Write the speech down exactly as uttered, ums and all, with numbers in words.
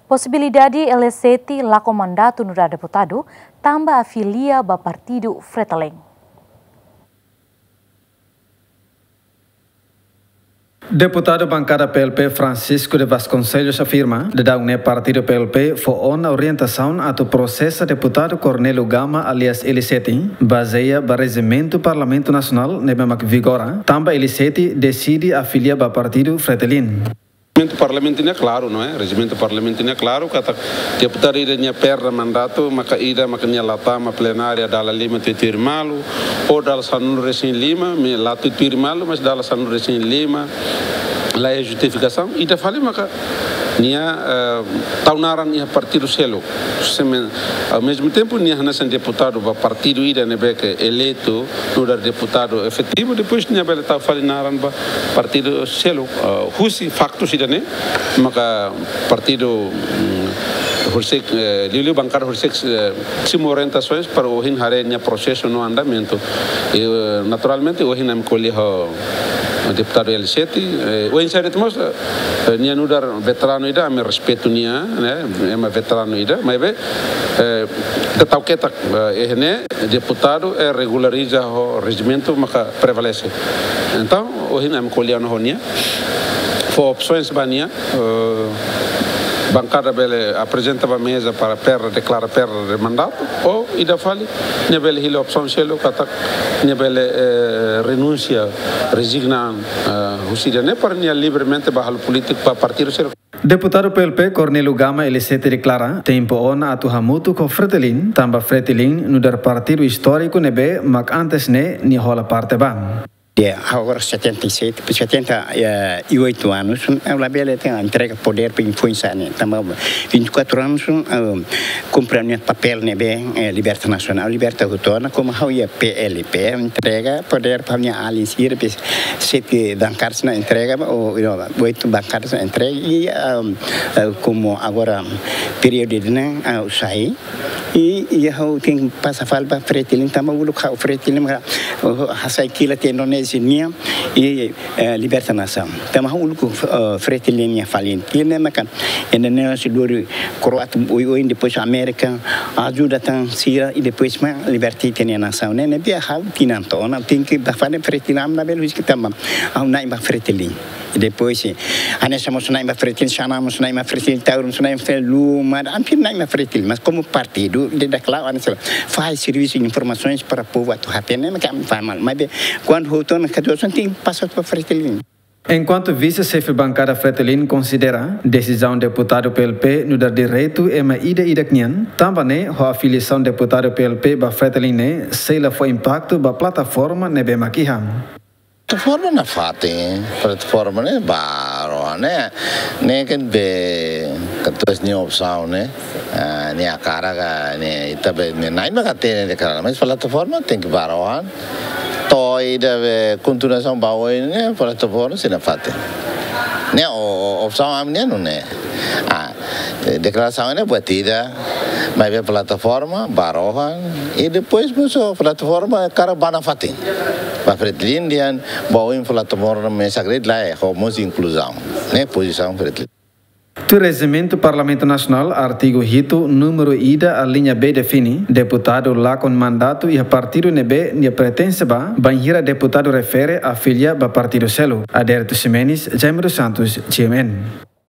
Posibilidade Elisete lakon mandatu nu'udar deputadu, tanba afilia ba partidu Fretilin. Deputadu bankada P L P Francisco de Vasconcelos afirma, daudaun ne'e partidu P L P fó ona orientasaun atu prosesa deputadu Cornélio Gama alias Elisete, bazeia ba rejimentu Parlamentu Nasionál ne'ebé mak vigora, tanba Elisete deside afilia ba partidu Fretilin. Rejimentu Parlamentu ne'e klaru, não é? Rejimentu Parlamentu ne'e klaru, katak deputadu ida nia perda mandatu, maka ida, maka nia la tama plenária dala lima tuir-tuir malu, ou dala sanulu-resin-lima, maibé la tuir-tuir malu, mas dala sanulu-resin-lima, la iha justifikasaun, ida fali maka nia, eh, tau naran iha partidu seluk. Seme-, ao mesmo tempo, nia hanesan deputadu ba partidu ida ne'ebé ke eleitu, nu'udar deputadu efetivu, depois nia bele tau fali naran ba partidu seluk, eh, husi faktu ida-ne'e, maka partidu, mm, horiseik, eh, liuliu bankada horiseik, eh, simu orientasaun para ohin haree nia prosesu no andamentu. I, eh, naturalmente, ohin ami ko'alia ho deputadu Elisete, eh, oinsá de'it mós, eh, nia nu'udar veteranu ida, ami respeitu nia, ne'e, ema veteranu ida, maibé, eh, ita tau ketak, eh, iha ne'e deputadu, eh, regulariza ho rejimentu maka prevalese. Entaun, ohin ami ko'alia ona ho nia, fó opsaun ba nia, eh, bankada bele aprezenta ba meza para perda, deklara perda de mandatu, ou ida fali, nia bele hili opsaun seluk katak nia bele, eh, renunsia, rezigna, eh, husi ida-ne'e para nia livremente bá halo polítika ba partidu seluk. Deputadu P L P Cornélio Gama Elisete deklara, tempu ona atu hamutuk ho Fretilin, tanba Fretilin nu'udar partidu istóriku ne'ebé mak antes ne'e nia hola parte ba. Ya, agora setenta e sete, setenta e oito anos, ha'u labele tenke entrega podér para influensia ne'e. Tanba vinte e quatro anos, eh, kumpre nia papél ne'ebé, eh, liberta nasionál, liberta hotu ona, komu ha'u iha P L P, entrega podér para nia alin sira, pe-, sete bankadas ne'e entrega, ou, ou, oito bankadas ne'e entrega, i, ah, ah, komu agora períodu ne'e, ah, sai, i, i ha'u tenke pasa fali ba Fretilin, tanba uluk ha'u Fretilin, maka, oh, hasai kila te Indonézia nian, i, eh, liberta nasaun. Tanba ha'u uluk, eh, Fretilin nia falin. Kila ne'e maka, Indonézia dori Kroásia, oioin, depois Amérika, ajuda tan sira, i depois mak liberta ita-nia nasaun. Ne'e, ne'ebé ha'u tinan to'o ona, tenke bá fali Fretilin, ami labele husik tanba ha'u na'in ba Fretilin. Depois, eh, hanesan mós na'in ba Fretilin, Xanana mós na'in ba Fretilin, Taura mós na'in ba Fretilin, Luma, hampir na'in ba Fretilin. Mas komu partidu, de da klaru, hanesan faz servisu de informasaun para povu atu hatene, mas ka faz mal. Maibé, kuandu hotu ona, katorze ona, tenke pasa ba Fretilin. Enkuantu vise-xefe bankada Fretilin konsidera desizaun deputadu P L P nu'udar direitu ema ida-idak nian, tanba ne'e ho afiliasaun deputadu P L P ba Fretilin ne'e sei la fó impaktu ba plataforma ne'ebé mak iha. Plataforma nafatin, plataforma ne'e barak, ne'e, ne'e kan be katorze nia opsaun ne'e, ah, nia hakarak, ne'e ita be, ne'e na'in ba ka tene deklara, mas plataforma tenke barak. To'o ida be kontinuasaun ba oin ne'e, plataforma sei nafatin. Ne'e o, o, opsaun ami-nian nune'e. Ah, eh, deklarasaun ne'e buat ida, maibé plataforma barak, i depois mós plataforma hakarak ba nafatin. Ba Fretilin nian, ba oin plataforma mesak de'it lae, ho mós inkluzaun. Ne'e pozisaun Fretilin. Tuir rejimentu Parlamentu Nasionál, artigu hitu, númeru ida, alínea B define, deputadu lakon mandatu iha partidu ne'ebé nia pertense ba, bainhira deputadu refere afilia ba partidu seluk. Adérito Ximenes, Jaime dos Santos, G M N.